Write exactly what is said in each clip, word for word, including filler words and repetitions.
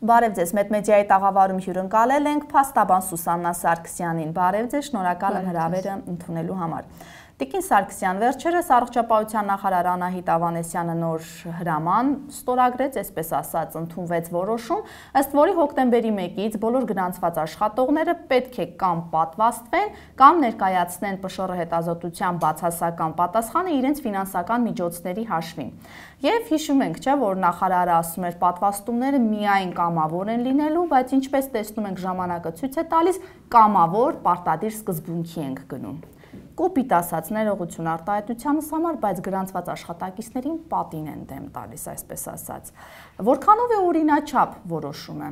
Բարև ձեզ, Մեդմեդիայի տաղավարում հյուրընկալել ենք փաստաբան Սուսաննա Սարգսյանին։ Բարև ձեզ, շնորհակալ եմ հրավերը ընդունելու համար։ Տիկին Սարգսյան, վերջերս առողջապահության նախարար Անահիտ Ավանեսյանը նոր հրաման ստորագրեց, այսպես ասած, ընդունվեց որոշում, ըստ որի հոկտեմբերի մեկից բոլոր գրանցված աշխատողները պետք է կամ պատվաստվեն, կամ ներկայացնեն ՊՇՌ հետազոտության բացասական պատասխանը իրենց ֆինանսական միջոցների հաշվին։ Եվ հիշում ենք, չէ, որ նախարարը ասում էր պատվաստումները միայն կամավոր են լինելու, բայց ինչպես տեսնում ենք ժամանակը ցույց է տալիս, կամավոր պարտադիր սկզբունքի ենք գնում։ Կոպիտ ասած ներողություն արտահայտությանս համար, բայց գրանցված աշխատակիցներին պատին են դեմ տալիս, այսպես ասած։ Որքանով է օրինաչափ որոշումը։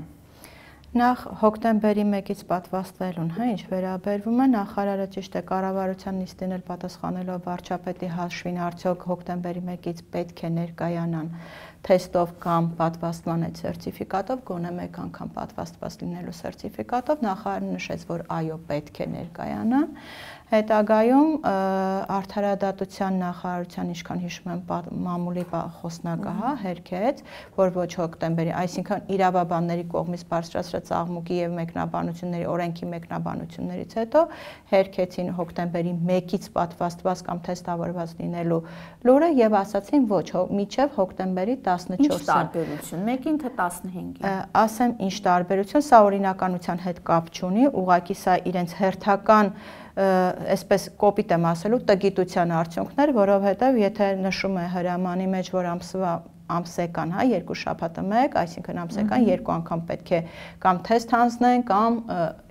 Նախ հոկտեմբերի մեկից պատվաստվելուն, հա, ինչ վերաբերվում է, նախարարը ճիշտ է կառավարության նիստին էլ պատասխանելով վարչապետի հաշվին, արդյոք հոկտեմբերի մեկից պետք է ներկայանան թեստով կամ պատվաստման այդ սերտիֆիկատով, գոնե մեկ անգամ պատվաստված լինելու սերտիֆիկատով, նախարարը նշեց, որ այո, պետք է ներկայանան։ Հետագայում արդարադատության նախարարության, ինչքան հիշում եմ, մամուլի խոսնակահա հերքեց, որ ոչ հոկտեմբերի, այսինքն իրավաբանների կողմից բարձրացրած աղմուկի եւ մեկնաբանությունների, օրենքի մեկնաբանություններից հետո հերքեցին հոկտեմբերի մեկից պատվաստված կամ թեստավորված լինելու լուրը եւ ասացին ոչ, մինչեւ հոկտեմբերի տասնչորսը։ Ինչ տարբերություն, մեկին թե տասնհինգին։ Ասեմ, ինչ տարբերություն, սա օրինականության հետ կապ չունի, ուղղակի սա իրենց հերթական այսպես կոպիտ եմ ասելու տգիտության արդյունքներ, որովհետև եթե նշում է հրամանի մեջ, որ ամսվա ամսեկան, հա, երկու շաբաթը մեկ, այսինքն ամսեկան երկու անգամ պետք է կամ թեստ հանձնեն, կամ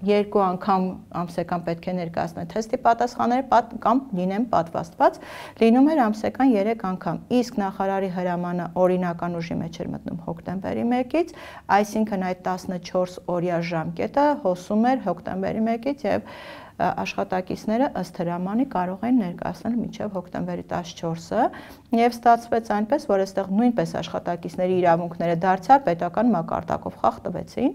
երկու անգամ ամսեկան պետք է ներկայացնեն թեստի պատասխանները, կամ լինեն պատվաստված, լինում էր ամսեկան երեք անգամ։ Իսկ նախարարի հրամանը օրինական ուժի մեջ էր մտնում հոկտեմբերի մեկից, այսինքն այդ տասնչորս օրյա ժամկետը հոսում էր հոկտեմբերի մեկից եւ աշխատակիցները ըստ հրամանի կարող են ներկայացնել մինչև հոկտեմբերի տասնչորսը եւ ստացվեց այնպես, որ այստեղ նույնպես աշխատակիցների իրավունքները դարձյալ պետական մակարդակով խախտվեցին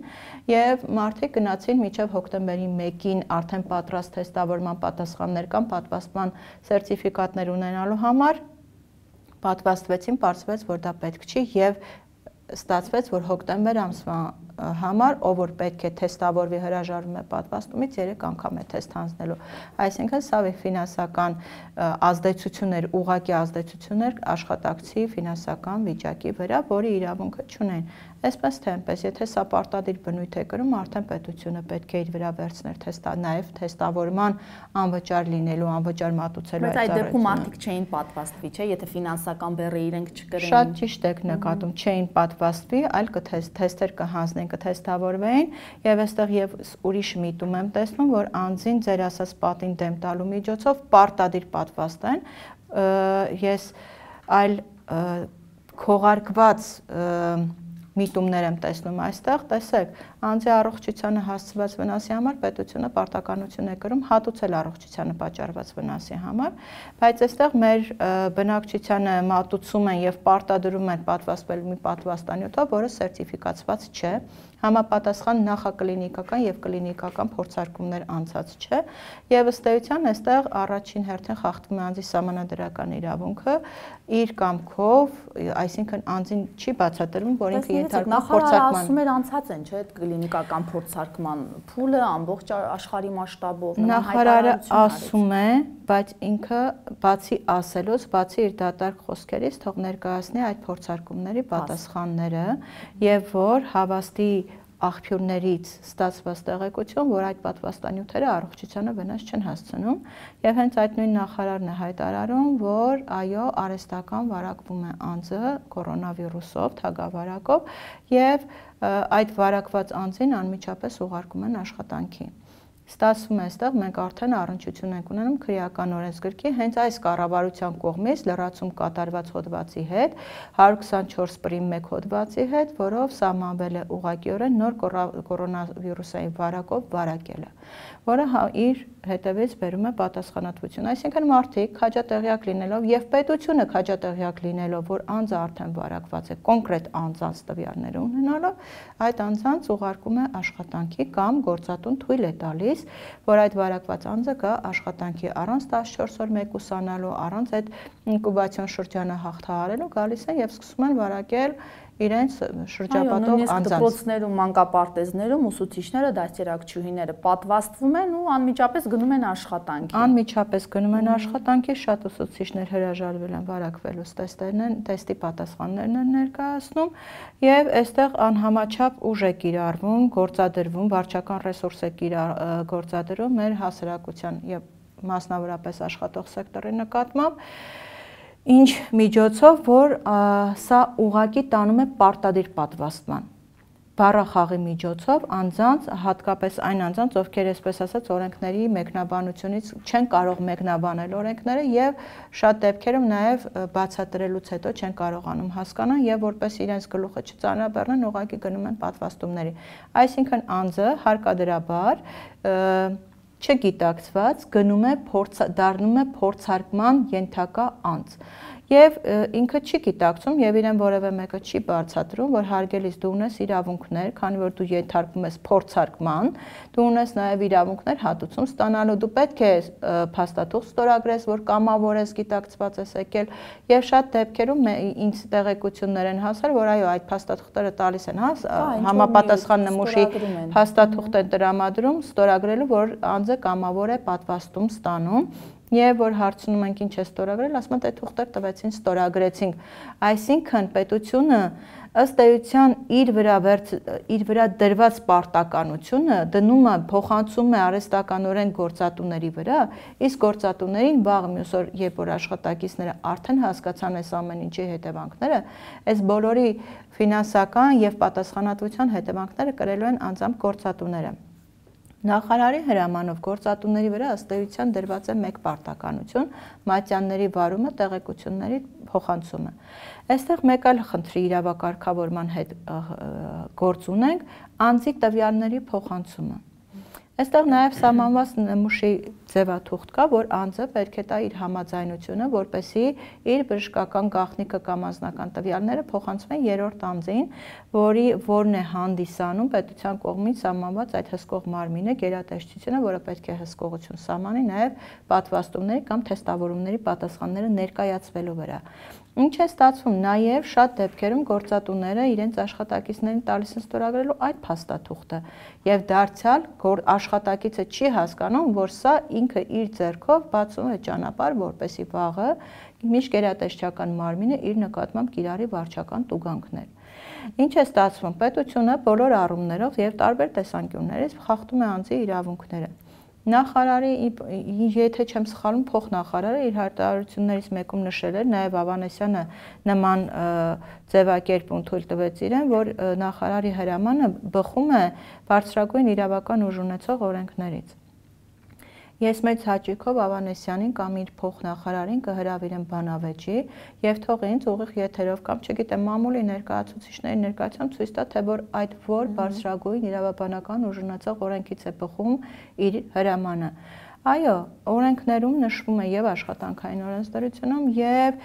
եւ մարդիկ գնացին մինչև հոկտեմբերի մեկին արդեն պատրաստ թեստավորման պատասխաններ կամ պատվաստման սերտիֆիկատներ ունենալու համար պատվաստվեցին, պարզվեց, որ դա պետք չի եւ ստացվեց, որ հոկտեմբեր ամսվա համար, ով որ պետք է թեստավորվի հրաժարվում է պատվաստումից, երեք անգամ է թեստ հանձնելու։ Այսինքն սա ֆինանսական ազդեցություններ, ուղղակի ազդեցություններ աշխատակցի ֆինանսական վիճակի վրա, որի իրավունքը չունեն։ Այսպես թե այնպես, եթե սա պարտադիր բնույթ է կրում, արդեն պետությունը պետք է իր վրա վերցներ թեստա, նաև թեստավորման անվճար լինելու, անվճար մատուցելու այդ ծառայությունը։ Բայց այդ դեպքում մարդիկ չէին պատվաստվի, չէ՞, եթե ֆինանսական բեռը իրենք չկրեին։ Շատ ճիշտ եք նկատում, չէին պատվաստվի, այլ կթեստեր կհանձնեն, կթեստավորվեին եւ այստեղ եւ ուրիշ միտում եմ տեսնում, որ անձին ձեր ասած պատին դեմ տալու միջոցով պարտադիր պատվաստեն, ես այլ քողարկված միտումներ եմ տեսնում այստեղ, տեսեք, անձի առողջությանը հասցված վնասի համար պետությունը պարտականություն է կրում հատուցել առողջությանը պատճառված վնասի համար, բայց այստեղ մեր բնակչությանը մատուցում են եւ պարտադրում են պատվաստվել մի պատվաստանյութով, որը սերտիֆիկացված չէ, համապատասխան նախակլինիկական եւ կլինիկական փորձարկումներ անցած չէ եւ ըստ էության այստեղ առաջին հերթին խախտվում է անձի սահմանադրական իրավունքը իր կամքով, այսինքն անձին չի բացատրվում, որ ինքը ենթարկվում փորձարկման։ Ասում էր անցած են, չէ՞, կլինիկական փորձարկման փուլը ամբողջ աշխարհի մասշտաբով։ Նախարարը ասում է, բայց ինքը բացի ասելուց, բացի իր դատարկ խոսքերից թող ներկայացնի այդ փորձարկումների պատասխանները եւ որ հավաստի աղբյուրներից ստացված տեղեկություն, որ այդ պատվաստանյութերը առողջությանը վնաս չեն հասցնում եւ հենց այդ նույն նախարարն է հայտարարում, որ այո, արհեստական վարակվում է անձը կորոնավիրուսով, թագավարակով եւ այդ վարակված անձին անմիջապես ուղարկում են աշխատանքի։ Ստացվում է այստեղ մենք արդեն առնչություն ենք ունենում քրեական օրենսգրքի հենց այս կառավարության կողմից լրացում կատարված հոդվածի հետ, հարյուր քսանչորս պրիմ մեկ հոդվածի հետ, որով սահմանվել է ուղղակիորեն նոր կորոնավիրուսային վարակով վարակելը, որը իր հետևից բերում է պատասխանատվություն։ Այսինքն մարդիկ քաջատեղյակ լինելով եւ պետությունը քաջատեղյակ լինելով, որ անձը արդեն վարակված է, կոնկրետ անձանց տվյալները ունենալով, այդ անձանց ուղարկում է աշխատանքի կամ գործատուն թույլ է տալիս, որ այդ վարակված անձը գա աշխատանքի առանց տասնչորս օր մեկուսանալու, առանց այդ ինկուբացիոն շրջանը հաղթահարելու, գալիս են եւ սկսում են վարակել իրենց շրջապատող անձանց։ Դպրոցներում, մանկապարտեզներում ուսուցիչները, դաստիարակչուհիները պատվաստվում են ու անմիջապես գնում են աշխատանքի։ Անմիջապես գնում են աշխատանքի, շատ ուսուցիչներ հրաժարվել են վարակվելու տեստերն են, տեստի պատասխաններն են ներկայացնում եւ այստեղ անհամաչափ ուժ է կիրառվում, գործադրվում, վարչական ռեսուրս է գործադրում մեր հասարակության եւ մասնավորապես աշխատող սեկտորի նկատմամբ, ինչ միջոցով, որ սա ուղղակի տանում է պարտադիր պատվաստման։ Բառախաղի միջոցով անձանց, հատկապես այն անձանց, ովքեր այսպես ասած օրենքների մեկնաբանությունից չեն կարող մեկնաբանել օրենքները եւ շատ դեպքերում նաեւ բացատրելուց հետո չեն կարողանում հասկանալ եւ որպես իրենց գլուխը չծանրաբեռնեն, ուղղակի գնում են պատվաստումների։ Այսինքն անձը հարկադրաբար չգիտակցված գնում է դառնում է փորձարկման ենթակա անձ եւ ինքը չի գիտակցում եւ իրեն որևէ մեկը չի բացատրում, որ հարգելիս դու ունես իրավունքներ, քանի որ դու ենթարկվում ես փորձարկման, դու ունես նաեւ իրավունքներ հատուցում ստանալու, դու պետք է փաստաթուղթ ստորագրես, որ կամավոր ես, գիտակցված ես եկել եւ շատ դեպքերում ինձ տեղեկություններ են հասել, որ այո, այդ փաստաթուղթերը տալիս են, հա, համապատասխան նմուշի փաստաթուղթ են տրամադրում ստորագրելու, որ անձը կամավոր է պատվաստում ստանում եւ որ հարցնում ենք ինչ է ստորագրել, ասում են դե թուղթեր տվեցին, ստորագրեցինք։ Այսինքն պետությունը ըստ էության իր վրա իր վրա դրված պարտականությունը դնում է, փոխանցում է արհեստականորեն գործատուների վրա, իսկ գործատուներին վաղ մյուս օր, երբ որ աշխատակիցները արդեն հասկացան այս ամեն ինչի հետևանքները, այս բոլորի ֆինանսական եւ պատասխանատվության հետևանքները կրելու են անձամբ գործատուները։ Նախարարի հրամանով գործատուների վրա ըստ էության դրված է մեկ պարտականություն՝ մատյանների վարումը, տեղեկությունների փոխանցումը։ Այստեղ մեկ այլ խնդրի իրավակարգավորման հետ գործ ունենք՝ անձի տվյալների փոխանցումը։ Այստեղ նաև սահմանված նմուշի ձևաթուղթ կա, որ անձը պետք է տա իր համաձայնությունը, որպեսզի իր բժշկական գաղտնիքը կամ անձնական տվյալները փոխանցվեն երրորդ անձին, որի որն է հանդիսանում պետության կողմից սահմանված այդ հսկող մարմինը, գերատեսչությունը, որը պետք է հսկողություն սահմանի նաև պատվաստումների կամ թեստավորումների պատասխանները ներկայացվելու վրա։ Ինչ է ստացվում, նաև շատ դեպքերում գործատուները իրենց աշխատակիցներին տալիս են ստորագրելու այդ փաստաթուղթը եւ դարձյալ աշխատակիցը չի հասկանում, որ սա ինքը իր ձեռքով բացում է ճանապարհ, որպեսզի վաղը միջգերատեսչական մարմինը իր նկատմամբ կիրառի վարչական տուգանքներ։ Ինչ է ստացվում, պետությունը բոլոր առումներով եւ տարբեր տեսանկյուններից խախտում է անձի իրավունքները։ Նախարարի, եթե չեմ սխալվում, փոխնախարարը իր հայտարարություններից մեկում նշել էր, նաև Ավանեսյանը նման ձևակերպում թույլ տվեց իրեն, որ նախարարի հրամանը բխում է բարձրագույն իրավական ուժ ունեցող օրենքներից։ Ես մեծ հաճույքով Ավանեսյանին կամ իր փոխնախարարին կհրավիրեմ բանավեճի եւ թող ինձ ուղիղ եթերով կամ չգիտեմ մամուլի ներկայացուցիչների ներկայությամբ ցույց տա, թե որ այդ որ բարձրագույն իրավաբանական ուժ ունեցող օրենքից է բխում իր հրամանը։ Այո, օրենքներում նշվում է եւ աշխատանքային օրենսդրությունում եւ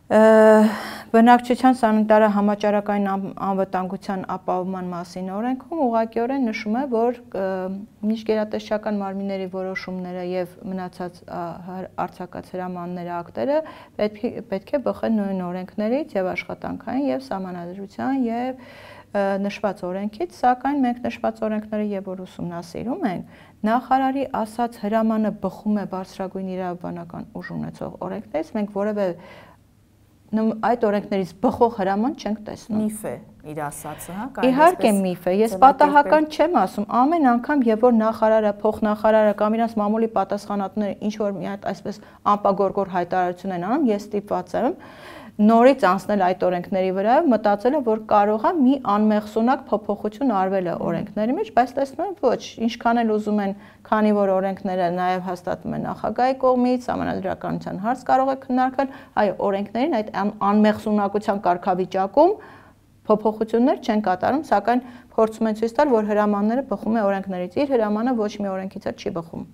բնակչության սանիտարը համաճարակային անվտանգության ապահովման մասին օրենքում ուղղակիորեն նշում է, որ միջգերատեսչական մարմինների որոշումները եւ մնացած արձակած հրամանները ակտերը պետք է բխեն նույն օրենքներից եւ աշխատանքային եւ սահմանադրության եւ նշված օրենքից, սակայն մենք նշված օրենքները եւ որ ուսումնասիրում ենք, նախարարի ասած հրամանը բխում է բարձրագույն իրավաբանական ուժ ունեցող օրենքներից, մենք որևէ այդ օրենքներից բխող հրաման չենք տեսնում։ Միֆ է իր ասածը, հա, իհարկե միֆ է, ես պատահական չեմ ասում, ամեն անգամ եւ որ նախարարը, փոխնախարարը կամ իրանց մամուլի պատասխանատուները ինչ որ մի հատ այսպես անպագորգոր հայտարարություն են անում, ես ստիպված եմ նորից անցնել այդ օրենքների վրա, մտածելը, որ կարող է մի անմեղսունակ փոփոխություն արվել է օրենքների մեջ, բայց տեսնում եմ ոչ, ինչքան էլ ուզում են, քանի որ օրենքները նաև հաստատվում են նախագահի կողմից, համանդրականության հարց կարող է քննարկվել, այո, օրենքներին այդ անմեղսունակության կարգավիճակում փոփոխություններ չեն կատարում, սակայն փորձում են ցույց տալ, որ հրամանները բխում է օրենքներից, իր հրամանը ոչ մի օրենքից չի բխում։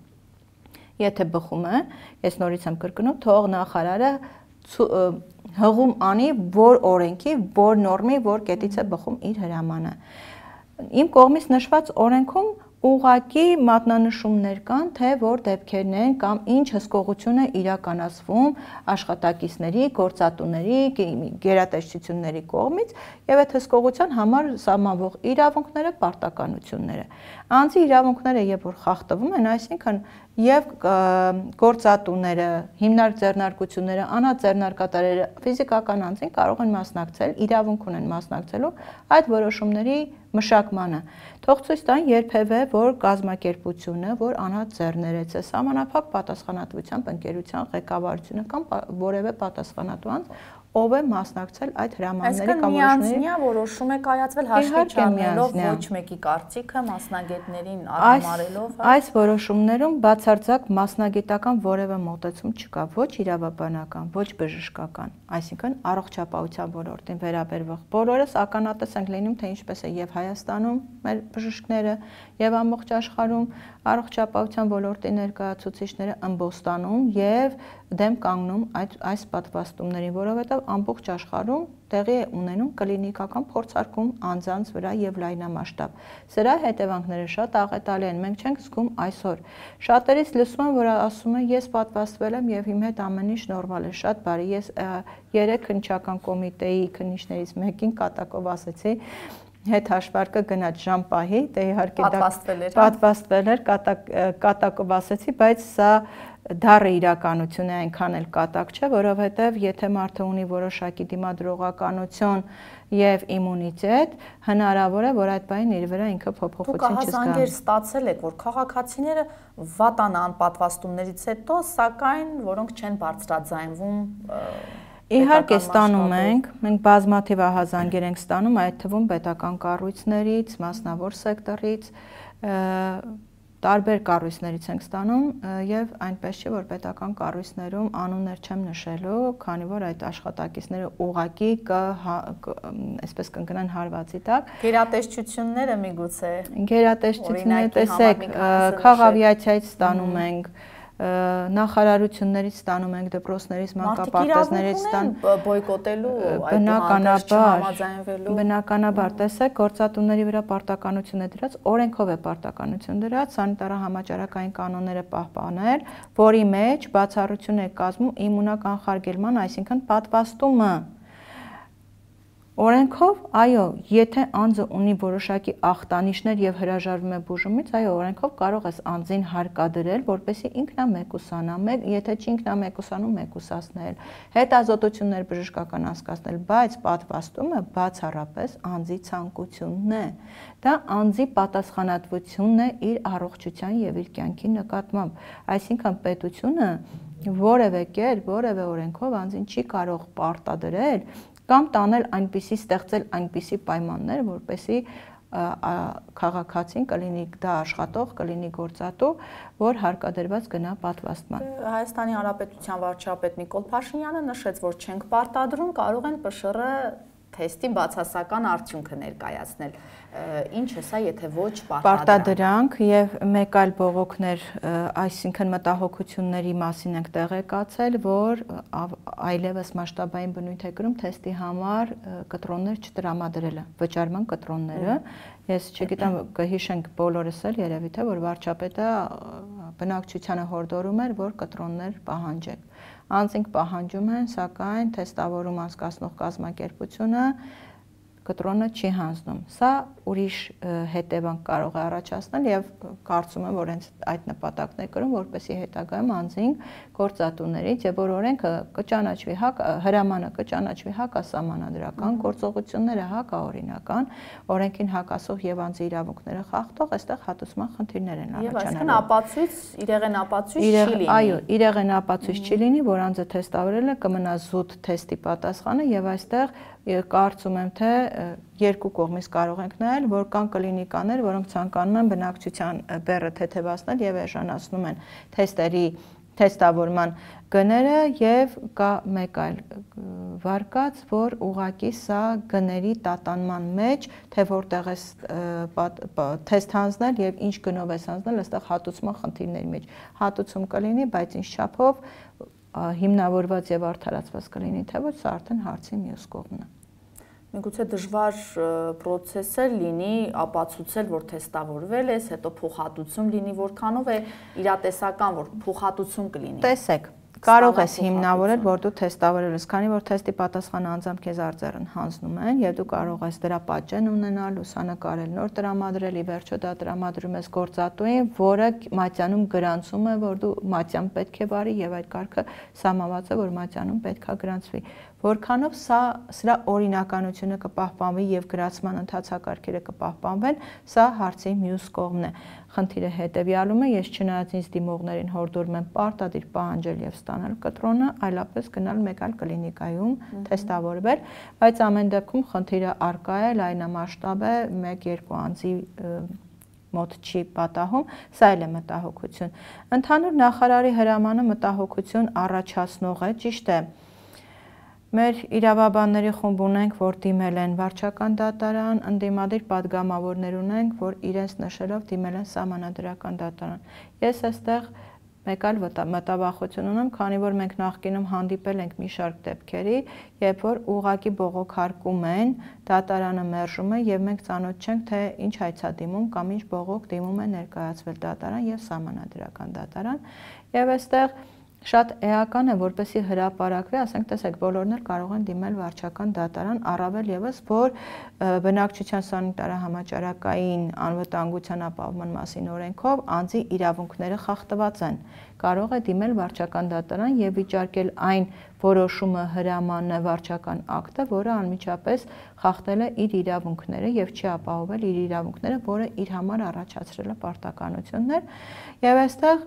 Եթե բխում է, ես նորից եմ կրկնում, թող նախարարը հղում անի, որ օրենքի, որ նորմի, որ կետից է բխում իր հրամանը։ Իմ կողմից նշված օրենքում ուղղակի մատնանշումներ կան, թե որ դեպքերն են կամ ինչ հսկողություն է իրականացվում աշխատակիցների, գործատուների, գերատեսչությունների կողմից եւ այդ հսկողության համար սահմանվող իրավունքները, պարտականությունները։ Անձի իրավունքները երբ որ խախտվում են, այսինքն եւ գործատուները, հիմնարկ ձեռնարկությունները, անաձեռնարկատարերը, ֆիզիկական անձին կարող են մասնակցել, իրավունք ունեն մասնակցելու այդ որոշումների մշակմանը։ Թող ցույց տան երբևէ, որ կազմակերպությունը, որ անաձեռներեց է սահմանափակ պատասխանատվությամբ ընկերության ղեկավարությունը կամ որևէ պատասխանատու անձ, ով է մասնակցել այդ հրամանների կամ որոշումների։ Միանձնյա որոշում է կայացվել հաշվի չառնելով ոչ մեկի կարծիքը, մասնագետներին արհամարելով։ Այս որոշումներում բացարձակ մասնագիտական որևէ մոտեցում չկա, ոչ իրավաբանական, ոչ բժշկական, այսինքն առողջապահության ոլորտին վերաբերող։ Բոլորս ականատես ենք լինում, թե ինչպես է եւ Հայաստանում մեր բժիշկները եւ ամբողջ աշխարհում առողջապահության ոլորտի ներկայացուցիչները ըմբոստանում եւ դեմ կանգնում այդ այս պատվաստումներին, որովհետեւ ամբողջ աշխարհում տեղի է ունենում կլինիկական փորձարկում անձանց վրա եւ լայնամասշտաբ։ Սրա հետևանքները շատ աղետալի են, մենք չենք զգում այսօր։ Շատերից լսում եմ, որ ասում են ես պատվաստվել եմ եւ իմ հետ ամեն ինչ նորմալ է, շատ բարի։ Ես երեք քննչական կոմիտեի քննիչներից մեկին կատակով ասեցի, հետ հաշվարկը գնաց ժամպահի, դե իհարկե դա պատվաստվել էր, կատակով ասեցի, բայց սա դառը իրականություն է, այնքան էլ կատակ չէ, որովհետև եթե մարդը ունի որոշակի դիմադրողականություն եւ իմունիտետ, հնարավոր է, որ այդ բանին իր վրա ինքը փոփոխություն չզգա։ Դուք հազանգեր ստացել եք, որ քաղաքացիները վատանան պատվաստումներից հետո, սակայն որոնք չեն բարձրաձայնվում։ Իհարկե ստանում ենք, մենք բազմաթիվ ահազանգեր ենք ստանում, այդ թվում պետական կառույցներից, մասնավոր սեկտորից, տարբեր կառույցներից ենք ստանում եւ այնպես չէ, որ պետական կառույցներում անուններ չեմ նշելու, քանի որ այդ աշխատակիցները ուղղակի այսպես կընկնեն հարվածի տակ։ Գերատեսչությունները միգուցե։ Գերատեսչությունները տեսեք, քաղաքավիացիայից ստանում ենք, նախարարություններից ստանում ենք, դպրոցներից, մանկապարտեզներից ստանում բոյկոտելու, բնականաբար, բնականաբար, տեսեք, գործատուների վրա պարտականություն է դրած, օրենքով է պարտականություն դրած, սանիտարահամաճարակային կանոնները պահպանել, որի մեջ բացառություն է կազմում իմունականխարգելման, այսինքն պատվաստումը։ Օրենքով, այո, եթե անձը ունի որոշակի ախտանիշներ եւ հրաժարվում է բուժումից, այո, օրենքով կարող ես անձին հարկադրել, որպեսզի ինքնամեկուսանա, եթե չի ինքնամեկուսանում, մեկուսացնել, հետազոտություններ բժշկական անցկացնել, բայց պատվաստումը բացառապես անձի ցանկությունն է։ Դա անձի պատասխանատվությունն է իր առողջության եւ իր կյանքի նկատմամբ։ Այսինքն պետությունը որևէ կերպ, որևէ օրենքով անձին չի կարող պարտադրել կամ տանել այնպիսի, ստեղծել այնպիսի պայմաններ, որպեսզի քաղաքացին կլինի դա աշխատող, կլինի գործատու, որ հարկադրված գնա պատվաստման։ Հայաստանի Հանրապետության վարչապետ Նիկոլ Փաշինյանը նշեց, որ չենք պարտադրում, կարող են ՊՇՌ թեստի բացասական արդյունքը ներկայացնել։ Ինչ է սա, եթե ոչ պարտադրանք եւ մեկ այլ բողոքներ, այսինքն մտահոգությունների մասին ենք տեղեկացել, որ այլևս մասշտաբային բնույթ է կրում թեստի համար կտրոններ չտրամադրելը, վճարման կտրոնները։ Ես չգիտեմ, կհիշենք բոլորս էլ երևի թե որ վարչապետը բնակչությանը հորդորում էր, որ կտրոններ պահանջեք։ Անձինք պահանջում են, սակայն թեստավորում անցկացնող կազմակերպությունը կտրոնը չի հանձնում։ Սա ուրիշ հետևանք կարող է առաջացնել եւ կարծում եմ, որ հենց այդ նպատակն է կրում, որպեսզի հետագայում անձին գործատուներից եւ որ օրենքը կճանաչվի հակ, հրամանը կճանաչվի հակասահմանադրական, գործողությունները հակաօրինական, օրենքին հակասող եւ անձի իրավունքները խախտող, այստեղ հատուցման խնդիրներ են առաջանալու։ Եվ այսինքն ապացույց, իրեղեն ապացույց չի լինի։ Այո, իրեղեն ապացույց չի լինի, որ անձը թեստավորել է, կմնա զուտ թեստի պատասխանը եւ այստեղ կարծում եմ, թե երկու կողմից կարող ենք նայել, որ կան կլինիկաներ, որոնք ցանկանում են բնակչության բեռը թեթևացնել եւ էժանացնում են թեստերի թեստավորման գները եւ կա մեկ այլ վարկած, որ ուղղակի սա գների տատանման մեջ, թե որտեղ է թեստ հանձնել եւ ինչ գնով է հանձնել, այստեղ հատուցման խնդիրների մեջ հատուցում կլինի, բայց ինչ չափով հիմնավորված եւ արդարացված կլինի, թե ոչ սա արդեն հարցի մյուս կողմն է։ Միգուցե դժվար process է լինի ապացուցել, որ թեստավորվել ես, հետո փոխհատուցում լինի, որքանով է իրատեսական, որ փոխհատուցում կլինի։ Տեսեք, կարող ես հիմնավորել, որ դու թեստավորել ես, քանի որ թեստի պատասխանը անձամբ քեզ արձեռն հանձնում են, եւ դու կարող ես դրա պատճեն ունենալ, լուսանկարել, նոր տրամադրել, ի վերջո դա տրամադրում ես գործատուին, որը մատյանում գրանցում է, որ դու մատյան պետք է բարի եւ այդ կարգը սահմանված է, որ մատյանում պետքա գրանցվի։ Որքանով սա սրա օրինականությունը կպահպանվի եւ գրացման ընթացակարգերը կպահպանվեն, սա հարցի մյուս կողմն է։ Խնդիրը հետեւյալում է, ես չնայած ինձ դիմողներին հորդորում եմ պարտադիր պահանջել եւ ստանալ կտրոնը, այլապես գնալ մեկ այլ կլինիկայում թեստավորվել, բայց ամեն դեպքում խնդիրը առկա է, լայնամասշտաբ է, մեկ-երկու անձի մոտ չի պատահում, սա էլ է մտահոգություն։ Ընդհանուր նախարարի հրամանը մտահոգություն առաջացնող է, ճիշտ է։ Մեր իրավաբանների խումբ ունենք, որ դիմել են վարչական դատարան, ընդդիմադիր պատգամավորներ ունենք, որ իրենց նշելով դիմել են սահմանադրական դատարան։ Ես այստեղ մեկ այլ մտավախություն ունեմ, քանի որ մենք նախկինում հանդիպել ենք մի շարք դեպքերի, երբ որ ուղղակի բողոքարկում են, դատարանը մերժում է եւ մենք ծանոթ չենք, թե ինչ հայցադիմում կամ ինչ բողոք դիմում է ներկայացվել դատարան եւ սահմանադրական դատարան։ Եվ այստեղ շատ էական է, որպեսզի հրապարակվի, ասենք, տեսեք, բոլորն էլ կարող են դիմել վարչական դատարան, առավել եւս, որ բնակչության սանիտարահամաճարակային անվտանգության ապահովման մասին օրենքով անձի իրավունքները խախտված են։ Կարող է դիմել վարչական դատարան եւ վիճարկել այն որոշումը, հրամանը, վարչական ակտը, որը անմիջապես խախտել է իր իրավունքները եւ չի ապահովել իր իրավունքները, որը իր համար առաջացրել է պարտականություններ, եւ այստեղ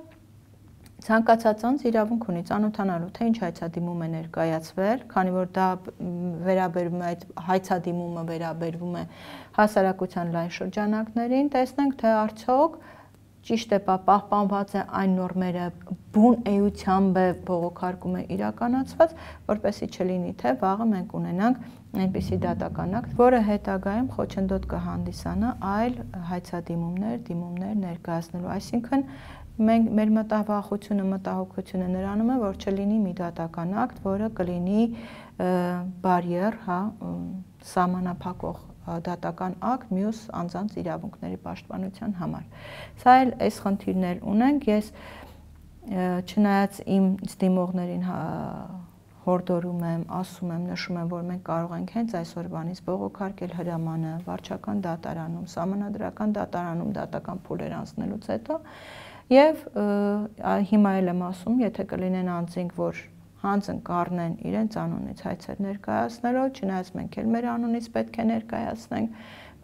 ցանկացած անձ իրավունք ունի ծանոթանալու, թե ինչ հայցադիմում է ներկայացվել, քանի որ դա վերաբերվում է, այդ հայցադիմումը վերաբերվում է հասարակության լայն շրջանակներին, տեսնենք, թե արդյոք ճիշտ է, պահպանված է այն նորմերը, բուն էությամբ է բողոքարկումը իրականացված, որպեսզի չլինի, թե վաղը մենք ունենանք այնպիսի դատական ակտ, որը հետագայում խոչընդոտ կհանդիսանա այլ հայցադիմումներ, դիմումներ ներկայացնելու, այսինքն մենք մեր մտավախությունը, մտահոգությունը նրանում է, որ չլինի մի դատական ակտ, որը կլինի բարիեր, հա, սահմանափակող դատական ակտ մյուս անձանց իրավունքների պաշտպանության համար։ Սա էլ այս խնդիրներ ունենք, ես չնայած իմ դիմողներին հորդորում եմ, ասում եմ, նշում եմ, որ մենք կարող ենք հենց այսօրվանից բողոքարկել հրամանը վարչական դատարանում, սահմանադրական դատարանում դատական փուլեր անցնելուց հետո Եվ հիմա էլ եմ ասում, եթե կլինեն անձինք, որ հանձն կառնեն իրենց անունից հայցեր ներկայացնելով, չնայած մենք էլ մեր անունից պետք է ներկայացնենք,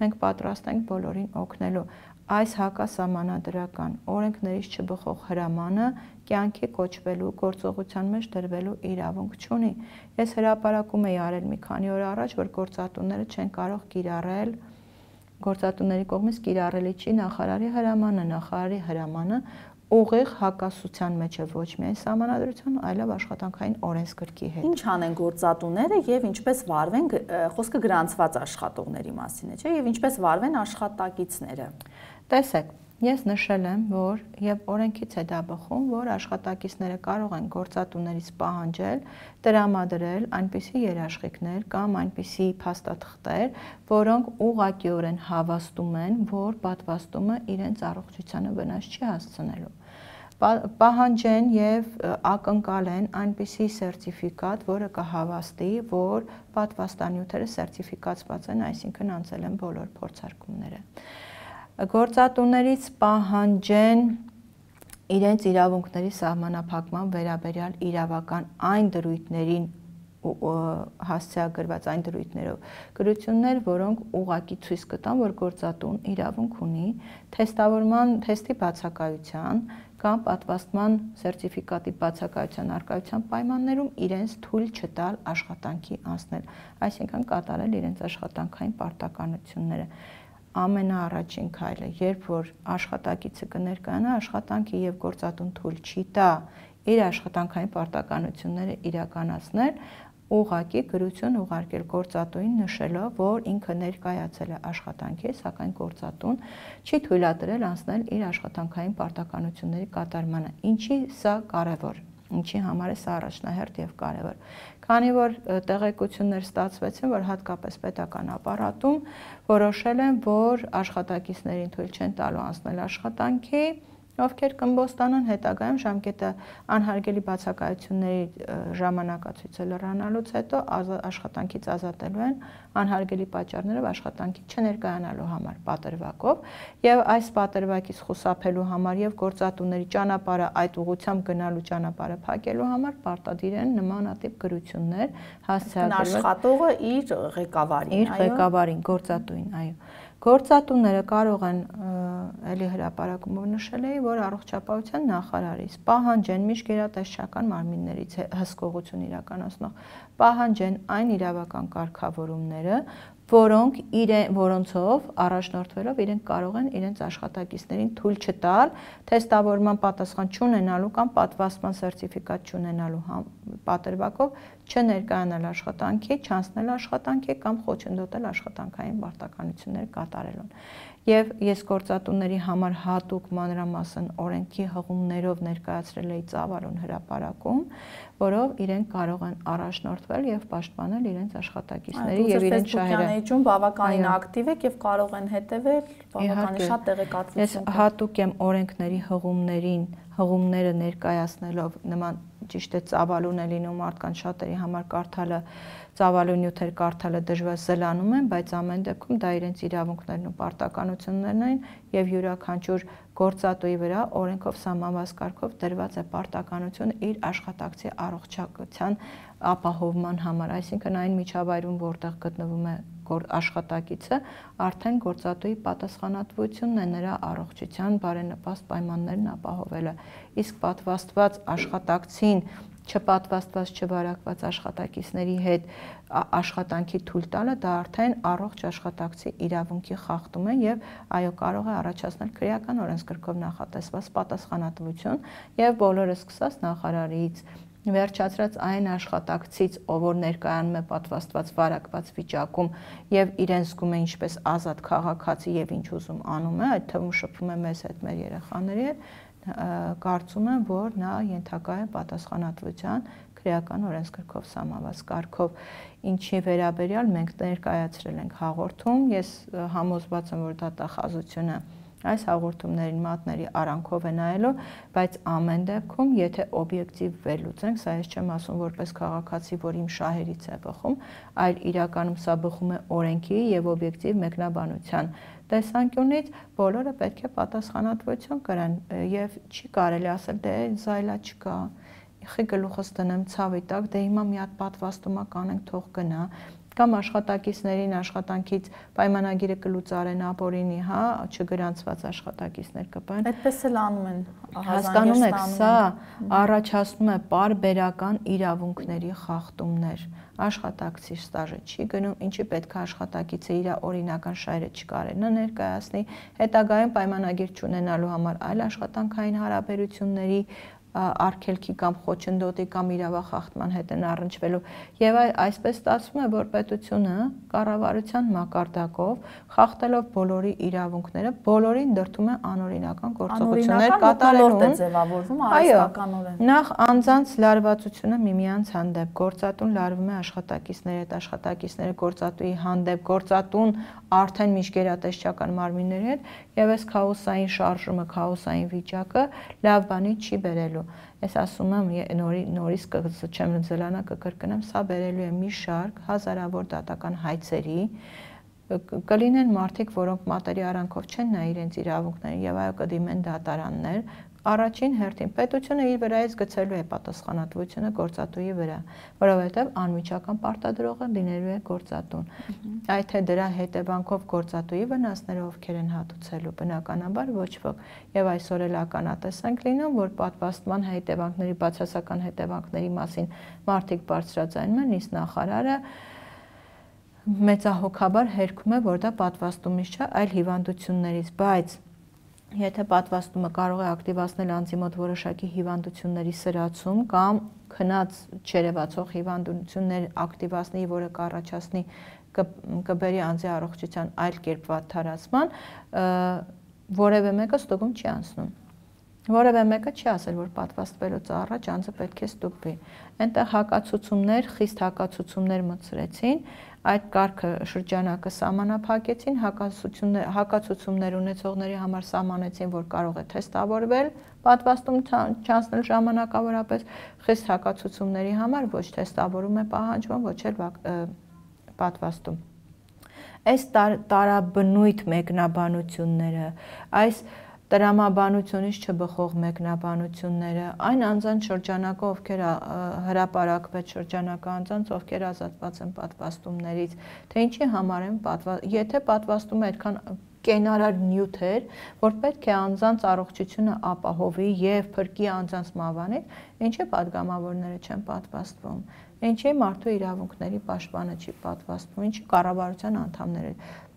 մենք պատրաստ ենք բոլորին օգնելու։ Այս հակասահմանադրական օրենքներից չբխող հրամանը կյանքի կոչվելու, գործողության մեջ դրվելու իրավունք չունի։ Ես հրապարակում էի արել մի քանի օր առաջ, որ գործատուները չեն կարող կիրառել գործատուների կողմից կիրառելի չի նախարարի հրամանը, նախարարի հրամանը ուղիղ հակասության մեջ է ոչ միայն սահմանադրության, այլև աշխատանքային օրենսգրքի հետ։ Ինչ անեն գործատուները եւ ինչպես վարվեն, խոսքը գրանցված աշխատողների մասին է, չէ՞, եւ ինչպես վարվեն աշխատակիցները։ Տեսեք, ես նշել եմ, որ եւ օրենքից է դա բխում, որ աշխատակիցները կարող են գործատուներից պահանջել տրամադրել այնպիսի երաշխիքներ կամ այնպիսի փաստաթղթեր, որոնք ուղղակիորեն հավաստում են, որ պատվաստումը իրենց առողջությանը վնաս չի հասցնելու։ Պահանջեն եւ ակնկալեն այնպիսի սերտիֆիկատ, որը կհավաստի, որ պատվաստանյութերը սերտիֆիկացված են, այսինքն անցել են բոլոր փորձարկումները։ Գործատուներից պահանջեն իրենց իրավունքների սահմանափակման վերաբերյալ իրավական այն դրույթներին հասցեագրված այն դրույթներով գրություններ, որոնք ուղղակի ցույց կտան, որ գործատուն իրավունք ունի թեստավորման թեստի բացակայության կամ պատվաստման սերտիֆիկատի բացակայության առկայության պայմաններում իրենց թույլ չտալ աշխատանքի անցնել, այսինքն կատարել իրենց աշխատանքային պարտականությունները։ Ամենաառաջին քայլը, երբ որ աշխատակիցը կներկայանա, աշխատանքի եւ գործատուն թույլ չի տա իր աշխատանքային պարտականությունները իրականացնել, ուղղակի գրություն ուղարկել գործատուին նշելով, որ ինքը ներկայացել է աշխատանքի, սակայն գործատուն չի թույլատրել անցնել իր աշխատանքային պարտականությունների կատարմանը։ Ինչի սա կարևոր։ ինչի համար է սա առաջնահերթ եւ կարեւոր։ Քանի որ տեղեկություններ ստացվեցին, որ հատկապես պետական ապարատում որոշել են, որ աշխատակիցներին թույլ չեն տալու անցնել աշխատանքի, ովքեր կըմբոստանան, հետագայում ժամկետը անհարգելի բացակայությունների ժամանակացույցը լրանալուց հետո աշխատանքից ազատելու են անհարգելի պատճառներով աշխատանքի չներկայանալու համար պատրվակով, եւ այս պատրվակից խուսափելու համար եւ գործատուների ճանապարհը այդ ուղղությամբ գնալու ճանապարհը փակելու համար պարտադիր են նմանատիպ գրություններ հասցեագրել աշխատողը իր ղեկավարին, իր ղեկավարին, գործատուին, այո։ Գործատուները կարող են, էլի հրապարակումով նշել էի, որ առողջապահության նախարարից պահանջեն միջգերատեսչական մարմիններից հսկողություն իրականացնող պահանջեն այն իրավական կարգավորումները, որոնք իրեն, որոնցով առաջնորդվելով իրենք կարող են իրենց աշխատակիցներին թույլ չտալ թեստավորման պատասխան չունենալու կամ պատվաստման սերտիֆիկատ չունենալու պատրվակով չներկայանալ աշխատանքի, չանցնել աշխատանքի կամ խոչընդոտել աշխատանքային պարտականություններ կատարելուն։ Եվ ես գործատուների համար հատուկ մանրամասն օրենքի հղումներով ներկայացրել էի ծավալուն հրապարակում, որով իրենք կարող են առաջնորդվել եւ պաշտպանել իրենց աշխատակիցների եւ իրենց շահերը։ Ֆեյսբուքյան բավականին ակտիվ եք եւ կարող են հետեւել բավականին շատ տեղեկատվություն։ Ես հատուկ եմ օրենքների հղումներին, հղումները ներկայացնելով նման ճիշտ է ծավալուն է լինում մարդկանց շատերի համար կարդալը ծավալուն նյութեր կարդալը դժվար զլանում են, բայց ամեն դեպքում դա իրենց իրավունքներն ու պարտականություններն են եւ յուրաքանչյուր գործատուի վրա օրենքով սահմանված կարգով դրված է պարտականություն իր աշխատակցի առողջության ապահովման համար, այսինքն այն միջավայրում, որտեղ գտնվում է աշխատակիցը, արդեն գործատուի պատասխանատվությունն է նրա առողջության բարենպաստ պայմաններն ապահովելը, իսկ պատվաստված աշխատակցին չպատվաստված չվարակված աշխատակիցների հետ աշխատանքի թույլ տալը դա արդեն առողջ աշխատակցի իրավունքի խախտում է եւ այո կարող է առաջացնել քրեական օրենսգրքով նախատեսված պատասխանատվություն եւ բոլորը սկսած նախարարից վերջացրած այն աշխատակցից, ով որ ներկայանում է պատվաստված վարակված վիճակում եւ իրեն զգում է ինչպես ազատ քաղաքացի եւ ինչ ուզում անում է, այդ թվում շփվում է մեզ հետ, մեր երեխաների հետ, կարծում եմ, որ նա ենթակա է պատասխանատվության քրեական օրենսգրքով սահմանված կարգով, ինչի վերաբերյալ մենք ներկայացրել ենք հաղորդում, ես համոզված եմ, որ դատախազությունը այս հաղորդումներին մատների արանքով է նայելու, բայց ամեն դեպքում, եթե օբյեկտիվ վերլուծենք, սա ես չեմ ասում որպես քաղաքացի, որ իմ շահերից է բխում, այլ իրականում սա բխում է օրենքի եւ օբյեկտիվ մեկնաբանության տեսանկյունից, բոլորը պետք է պատասխանատվություն կրեն եւ չի կարելի ասել, դե զայլա չկա, խի գլուխս տնեմ ցավի տակ, դե հիմա մի հատ պատվաստումա կանենք, թող գնա, կամ աշխատակիցներին աշխատանքից պայմանագիրը կլուծարեն ապօրինի, հա, չգրանցված աշխատակիցներ կպան։ Այդպես էլ անում են, հասկանում եք, սա առաջացնում է պարբերական իրավունքների խախտումներ։ Աշխատակցի ստաժը չի գնում, ինչի պետք է աշխատակիցը իր օրինական շահերը չկարենա ներկայացնի, հետագայում պայմանագիր չունենալու համար այլ աշխատանքային հարաբերությունների արգելքի կամ խոչընդոտի կամ իրավախախտման հետ են առնչվելու եւ այսպես ստացվում է, որ պետությունը կառավարության մակարդակով խախտելով բոլորի իրավունքները բոլորին դրդում է անօրինական գործողություններ կատարելուն։ Այո, նախ անձանց լարվածությունը միմյանց հանդեպ, գործատուն լարվում է աշխատակիցների հետ, աշխատակիցները գործատուի հանդեպ, գործատուն արդեն միջգերատեսչական մարմինների հետ եւ այս քաոսային շարժումը, քաոսային վիճակը լավ բանի չի բերելու։ Ես ասում եմ, նորի, նորից չեմ զլանա կկրկնեմ, սա բերելու է մի շարք հազարավոր դատական հայցերի, կլինեն մարդիկ, որոնք մատերի արանքով չեն նայ իրենց իրավունքներին եւ այո կդիմեն դատարաններ, առաջին հերթին պետությունը իր վրայից գցելու է պատասխանատվությունը գործատուի վրա, որովհետև անմիջական պարտադրողը լինելու է գործատուն։ Այդ թե դրա հետևանքով գործատուի վնասները ովքեր են հատուցելու, բնականաբար ոչ ոք։ Եվ այսօր էլ ականատես ենք լինում, որ պատվաստման հետևանքների, բացասական հետևանքների մասին մարդիկ բարձրաձայնում են, իսկ նախարարը մեծահոգաբար հերքում է, որ դա պատվաստումից չէ, այլ հիվանդություններից, բայց եթե պատվաստումը կարող է ակտիվացնել անձի մոտ որոշակի հիվանդությունների սրացում կամ քնած չերևացող հիվանդություններ ակտիվացնի, որը կառաջացնի կբերի անձի առողջության այլ կերպ վատթարացման, որևէ մեկը ստուգում չի անցնում։ Որևէ մեկը չի ասել, որ պատվաստվելուց առաջ անձը պետք է ստուգվի։ Այնտեղ հակացուցումներ, խիստ հակացուցումներ մտցրեցին, այդ կարգը շրջանակը սահմանափակեցին, հակացուցումներ, հակացուցումներ ունեցողների համար սահմանեցին, որ կարող է թեստավորվել, պատվաստում չանցնել ժամանակավորապես, խիստ հակացուցումների համար ոչ թեստավորում է պահանջվում, ոչ էլ պատվաստում։ Այս տարաբնույթ մեկնաբանությունները, այս տրամաբանությունից չբխող մեկնաբանությունները, այն անձանց շրջանակը, ովքեր հրապարակվեց շրջանակը անձանց, ովքեր ազատված են պատվաստումներից, թե ինչի համար են պատվաստում, եթե պատվաստումը այդքան կենարար նյութ էր, որ պետք է անձանց առողջությունը ապահովի եւ փրկի անձանց մահվանից, ինչի падգամավորները չեն պատվաստվում, ինչի մարդու իրավունքների պաշտպանը չի պատվաստվում, ինչի կառավարության անդամները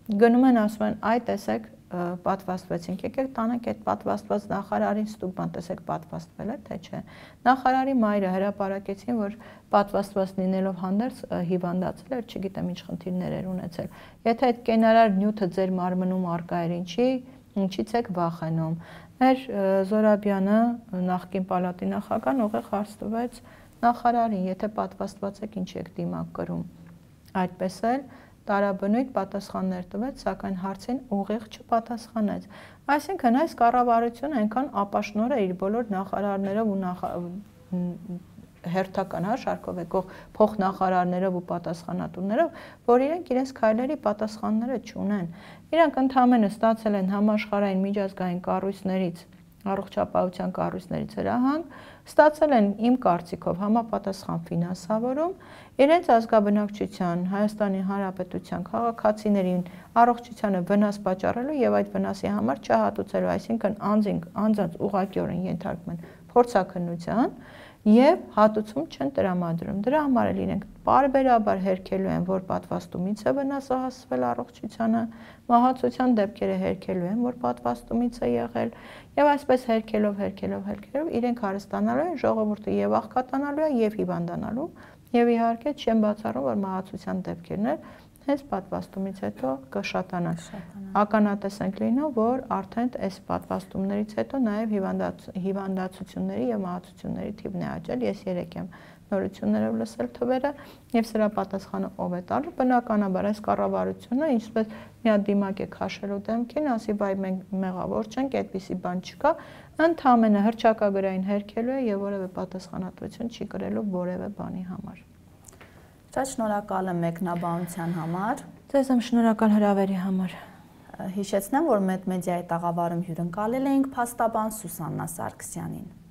գնում են ասում են, այ տեսեք պատվաստվեցինք, եկեք տանենք այդ պատվաստված նախարարին ստուգման, տեսեք պատվաստվել է, թե չէ։ Նախարարի մայրը հրապարակեցին, որ պատվաստված լինելով հանդերձ հիվանդացել էր, չգիտեմ ինչ խնդիրներ էր ունեցել։ Եթե այդ կենարար նյութը ձեր մարմնում առկա էր, ինչի, ինչից եք վախենում։ Մեր Զորաբյանը, նախկին պալատի նախագահն, ուղիղ հարց տվեց նախարարին, եթե պատվաստված եք, ինչ եք դիմակ կրում։ Այդպես էլ տարաբնույթ պատասխաններ տվեց, սակայն հարցին ուղիղ չպատասխանեց։ Այսինքն այս կառավարությունը այնքան ապաշնոր է իր բոլոր նախարարներով ու նախ... հերթական հաշարկով եկող փոխնախարարներով ու պատասխանատուներով, որ իրենք իրենց քայլերի պատասխանները չունեն։ Իրանք ընդհանրապես ստացել են համաշխարհային միջազգային կառույցներից, առողջապահության կառույցներից հրահանգ, ստացել են իմ կարծիքով համապատասխան ֆինանսավորում, իրենց ազգաբնակչության, Հայաստանի Հանրապետության քաղաքացիներին առողջությանը վնաս պատճառելու եւ այդ վնասի համար չհատուցելու, այսինքն անձինք անձանց ուղղակիորեն ենթարկում են փորձաքննության եւ հատուցում չեն տրամադրում։ Դրա համար էլ իրենք բարբերաբար հերքելու են, որ պատվաստումից է վնասը հասցվել առողջությանը, մահացության դեպքերը հերքելու են, որ պատվաստումից է եղել, եւ այսպես հերքելով, հերքելով, հերքելով իրենք հարստանալու են, ժողովուրդը եւ աղքատանալու է, եւ հիվանդանալու, եւ իհարկե չեն բացառում, որ մահացության դեպքերն էլ հենց պատվաստումից հետո կշատանան։ Ականատես ենք լինում, որ արդեն այս պատվաստումներից հետո նաև հիվանդացությունների եւ մահացությունների թիվն է աճել։ Ես երեք եմ նորություններով լսել թվերը եւ սրա պատասխանը ով է տալու։ Բնականաբար այս կառավարությունը ինչպես մի հատ դիմակ է քաշելու դեմքին, ասի բայ մենք մեղավոր չենք, այդպիսի բան չկա, ընդհանրապես հրճակագրային հերքելու է եւ որևէ պատասխանատվություն չի կրելու որևէ բանի համար։ Շատ շնորհակալ եմ մեկնաբանության համար։ Ձեզ եմ շնորհակալ հրավերի համար։ Հիշեցնեմ, որ Մեդմեդիայի տաղավարում հյուրընկալել էինք փաստաբան Սուսաննա Սարգսյանին։